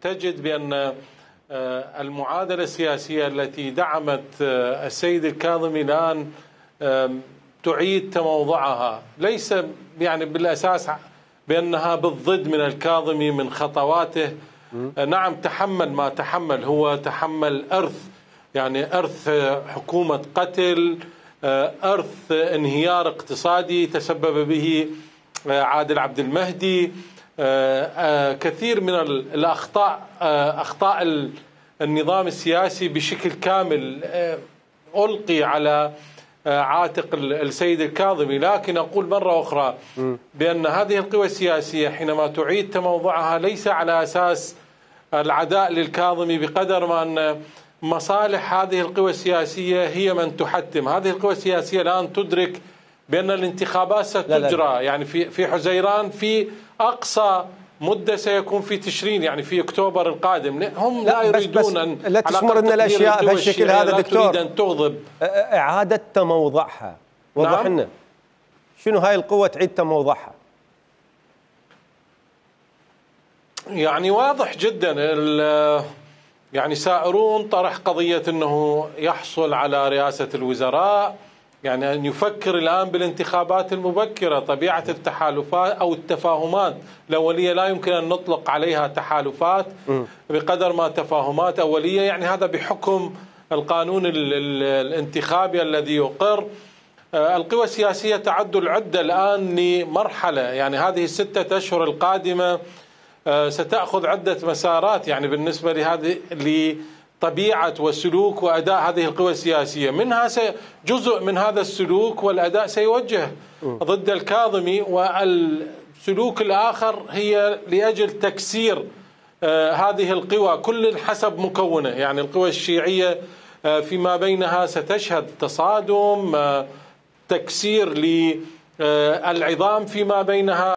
تجد بأن المعادلة السياسية التي دعمت السيد الكاظمي الآن تعيد تموضعها، ليس يعني بالأساس بأنها بالضد من الكاظمي من خطواته. نعم تحمل ما تحمل، هو تحمل إرث، يعني إرث حكومة قتل، إرث انهيار اقتصادي تسبب به عادل عبد المهدي، كثير من الأخطاء، أخطاء النظام السياسي بشكل كامل ألقي على عاتق السيد الكاظمي. لكن أقول مرة أخرى بأن هذه القوى السياسية حينما تعيد تموضعها ليس على أساس العداء للكاظمي بقدر ما أن مصالح هذه القوى السياسية هي من تحتم. هذه القوى السياسية الآن تدرك بأن الانتخابات ستجرى يعني في حزيران في أقصى مدة سيكون في تشرين، يعني في أكتوبر القادم. هم لا يريدون أن لا تشمر أن الأشياء بهالشكل هذا دكتور، تريد أن تغضب. إعادة تموضعها، وضح لنا شنو هاي القوة تعيد تموضعها؟ يعني واضح جدا، يعني سائرون طرح قضية أنه يحصل على رئاسة الوزراء، يعني أن يفكر الآن بالانتخابات المبكرة. طبيعة التحالفات أو التفاهمات الأولية لا يمكن أن نطلق عليها تحالفات بقدر ما تفاهمات أولية، يعني هذا بحكم القانون الانتخابي الذي يقر. القوى السياسية تعد العدة الآن لمرحلة، يعني هذه الستة أشهر القادمة ستأخذ عدة مسارات، يعني بالنسبة لطبيعة وسلوك وأداء هذه القوى السياسية. منها جزء من هذا السلوك والأداء سيوجه ضد الكاظمي، والسلوك الآخر هي لأجل تكسير هذه القوى كل حسب مكونه. يعني القوى الشيعية فيما بينها ستشهد تصادم، تكسير للعظام فيما بينها.